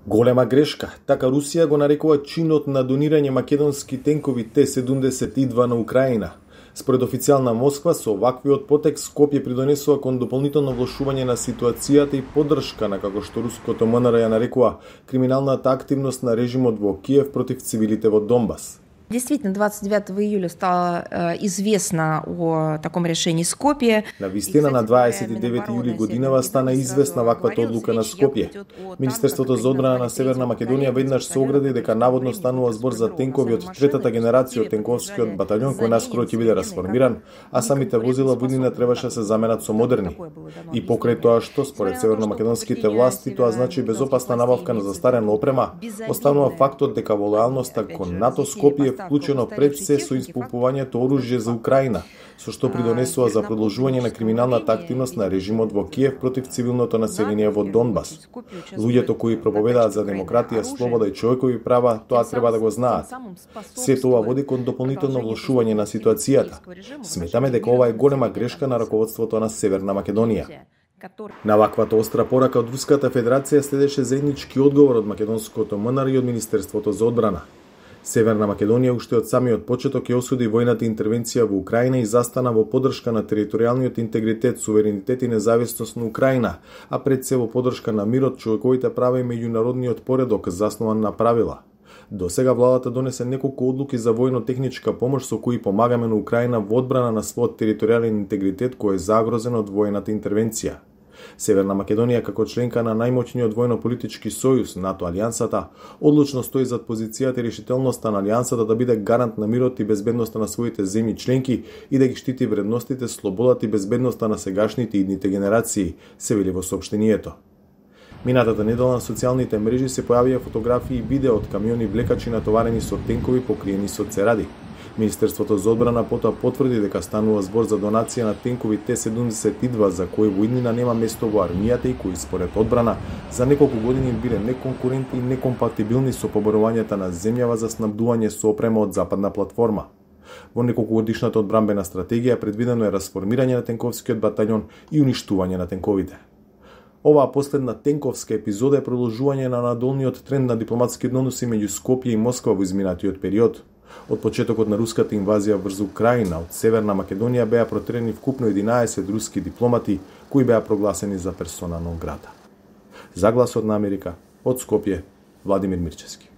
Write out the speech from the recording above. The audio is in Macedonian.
Голема грешка, така Русија го нарекува чинот на донирање македонски тенкови Т-72 на Украина. Според официјална Москва, со оваквиот потек Скопје придонесува кон дополнително влошување на ситуацијата и поддршка на, како што руското МНР ја нарекува, криминалната активност на режимот во Киев против цивилите во Донбас. Действительно, 29 июля стало известно о таком решении Скопје. На вистина, на 29 јули годинава стана известна ваквата одлука на Скопје. Министерството за одбрана на Северна Македонија веднаш се огради дека наводно станува збор за тенкови од третата генерација од тенковскиот баталјон кој наскоро ќе биде расформиран, а самите возила во иднина требаше се заменат со модерни. И покрај тоа што, според северномакедонските власти, тоа значи безопасна набавка на застарена опрема, останува фактот дека во лојалноста кон НАТО Скопје вклучено пред се со исполнувањето оружје за Украина, со што придонесува за продолжување на криминалната активност на режимот во Киев против цивилното население во Донбас. Луѓето кои проповедаат за демократија, слобода и човекови права, тоа треба да го знаат. Се тоа води кон дополнително влошување на ситуацијата. Сметаме дека ова е голема грешка на раководството на Северна Македонија. На ваквата остра порака од Руската Федерација следеше заеднички одговор од македонското МНР и од Министерството за одбрана. Северна Македонија уште од самиот почеток ја осуди војната интервенција во Украина и застана во поддршка на територијалниот интегритет, суверенитет и независност на Украина, а пред се во поддршка на мирот, човековите права и меѓународниот поредок заснован на правила. До сега владата донесе неколку одлуки за војно-техничка помош со кои помагаме на Украина во одбрана на својот територијален интегритет кој е загрозен од војната интервенција. Северна Македонија, како членка на најмоćниот војно-политички сојуз, НАТО алијансата, одлучно стои зад позицијата и решителноста на алијансата да биде гарант на мирот и безбедноста на своите земји членки и да ги штити вредностите, слободата и безбедноста на сегашните и идните генерации, се вели во соопштението. Минатата недела на социјалните мрежи се појавија фотографии и видео од камиони влекачи натоварени со тенкови покриени со церади. Министерството за одбрана потоа потврди дека станува збор за донација на тенкови Т-72 за кои во иднина нема место во армијата и кои според одбрана за неколку години биле неконкурентни и некомпатибилни со поборувањето на земјава за снабдување со опрема од западна платформа. Во неколкугодишната одбранбена стратегија предвидено е расформирање на тенковскиот баталјон и уништување на тенковите. Оваа последна тенковска епизода е продолжување на надолниот тренд на дипломатски односи меѓу Скопје и Москва во изминатиот период. Од почетокот на руската инвазија врз Украина од Северна Македонија беа протерени вкупно 11 руски дипломати кои беа прогласени за персона нон грата. За Гласот на Америка, од Скопје, Владимир Мирчевски.